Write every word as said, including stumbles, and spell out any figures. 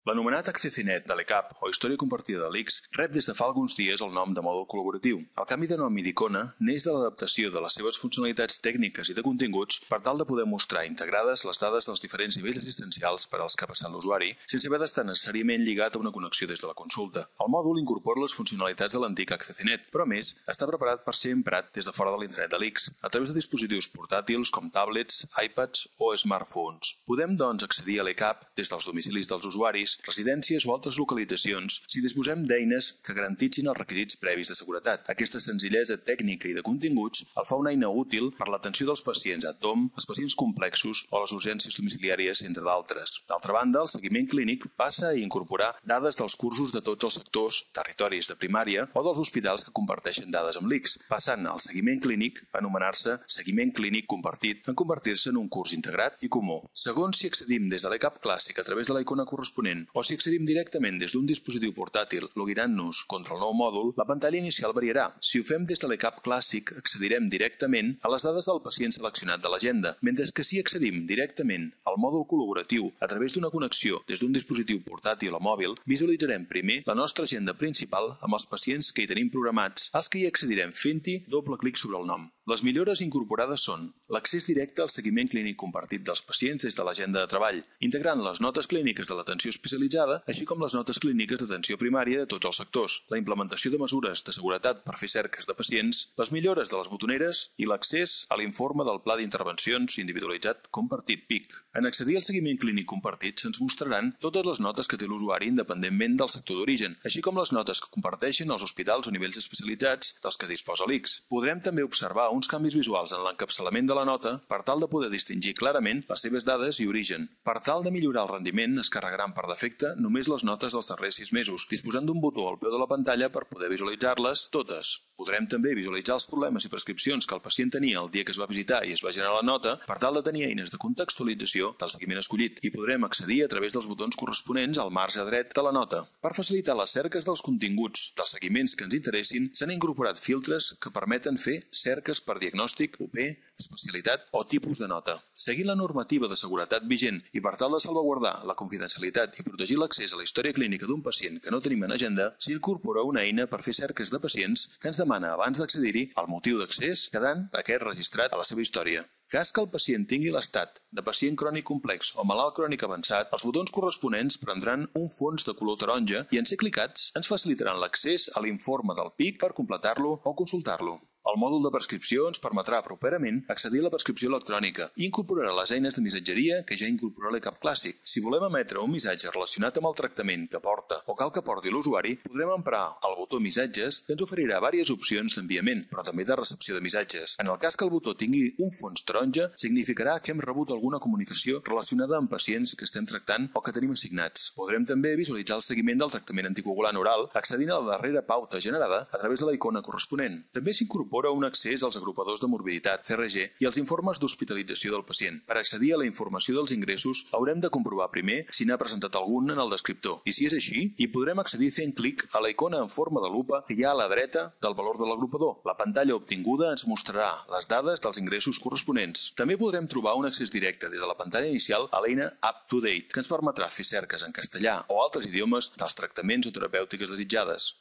L'anomenat AccessiNet de l'E C A P, o Història Compartida de l'I C S, rep des de fa alguns dies el nom de mòdul col·laboratiu. El canvi de nom i d'icona neix de l'adaptació de les seves funcionalitats tècniques i de continguts per tal de poder mostrar integrades les dades dels diferents nivells assistencials per als que ha passat l'usuari, sense haver d'estar necessàriament lligat a una connexió des de la consulta. El mòdul incorpora les funcionalitats de l'antic AccessiNet, però a més està preparat per ser emprat des de fora de l'intranet de l'I C S, a través de dispositius portàtils com tablets, iPads o smartphones. Podem, doncs, accedir a l'E C A P des dels domicilis dels usuaris, residències o altres localitzacions si disposem d'eines que garantitzin els requisits previs de seguretat. Aquesta senzillesa tècnica i de continguts el fa una eina útil per l'atenció dels pacients a tom, els pacients complexos o les urgències domiciliàries, entre d'altres. D'altra banda, el seguiment clínic passa a incorporar dades dels cursos de tots els sectors, territoris de primària o dels hospitals que comparteixen dades amb l'I C S, passant al seguiment clínic a anomenar-se seguiment clínic compartit en convertir-se en un curs integrat i comú. Segons si accedim des de l'E C A P clàssic a través de la icona corresponent o si accedim directament des d'un dispositiu portàtil login-nos contra el nou mòdul, la pantalla inicial variarà. Si ho fem des de l'E C A P clàssic, accedirem directament a les dades del pacient seleccionat de l'agenda, mentre que si accedim directament al mòdul col·laboratiu a través d'una connexió des d'un dispositiu portàtil o mòbil, visualitzarem primer la nostra agenda principal amb els pacients que hi tenim programats, als que hi accedirem fent-hi doble clic sobre el nom. Les millores incorporades són l'accés directe al seguiment clínic compartit dels pacients des de l'agenda de treball, integrant les notes clíniques de l'atenció especialitzada, així com les notes clíniques d'atenció primària de tots els sectors, la implementació de mesures de seguretat per fer cerques de pacients, les millores de les botoneres i l'accés a l'informe del Pla d'Intervencions Individualitzat Compartit P I C. En accedir al seguiment clínic compartit se'ns mostraran totes les notes que té l'usuari independentment del sector d'origen, així com les notes que comparteixen els hospitals o nivells especialitzats dels que disposa l'I C S. Podrem també observar uns canvis visuals en l'encapçalament de la nota per tal de poder distingir clarament les seves dades i origen. Per tal de millorar el rendiment, es carregaran per defecte només les notes dels darrers sis mesos, disposant d'un botó al peu de la pantalla per poder visualitzar-les totes. Podrem també visualitzar els problemes i prescripcions que el pacient tenia el dia que es va visitar i es va generar la nota per tal de tenir eines de contextualització del seguiment escollit, i podrem accedir a través dels botons corresponents al marge dret de la nota. Per facilitar les cerques dels continguts dels seguiments que ens interessin, s'han incorporat filtres que permeten fer cerques per diagnòstic, U P, especialitat o tipus de nota. Seguint la normativa de seguretat vigent i per tal de salvaguardar la confidencialitat i protegir l'accés a la història clínica d'un pacient que no tenim en agenda, s'incorpora una eina per fer cerques de pacients que ens demana abans d'accedir-hi el motiu d'accés, quedant aquest registrat a la seva història. Cas que el pacient tingui l'estat de pacient crònic complex o malalt crònic avançat, els botons corresponents prendran un fons de color taronja i en ser clicats ens facilitaran l'accés a l'informe del P I C per completar-lo o consultar-lo. El mòdul de prescripció ens permetrà properament accedir a la prescripció electrònica i incorporarà les eines de missatgeria que ja incorpora l'E C A P clàssic. Si volem emetre un missatge relacionat amb el tractament que porta o cal que porti l'usuari, podrem emprar el botó Missatges, que ens oferirà diverses opcions d'enviament, però també de recepció de missatges. En el cas que el botó tingui un fons taronja, significarà que hem rebut alguna comunicació relacionada amb pacients que estem tractant o que tenim assignats. Podrem també visualitzar el seguiment del tractament anticoagulant oral accedint a la darrera pauta generada a través de la icona corresponent. També s'incorpora un accés als agrupadors de morbiditat, C R G, i als informes d'hospitalització del pacient. Per accedir a la informació dels ingressos, haurem de comprovar primer si n'ha presentat algun en el descriptor. I si és així, hi podrem accedir fent clic a la icona en forma de lupa que hi ha a la dreta del valor de l'agrupador. La pantalla obtinguda ens mostrarà les dades dels ingressos corresponents. També podrem trobar un accés directe des de la pantalla inicial a l'eina Up to Date, que ens permetrà fer cerques en castellà o altres idiomes dels tractaments o terapèutiques desitjades.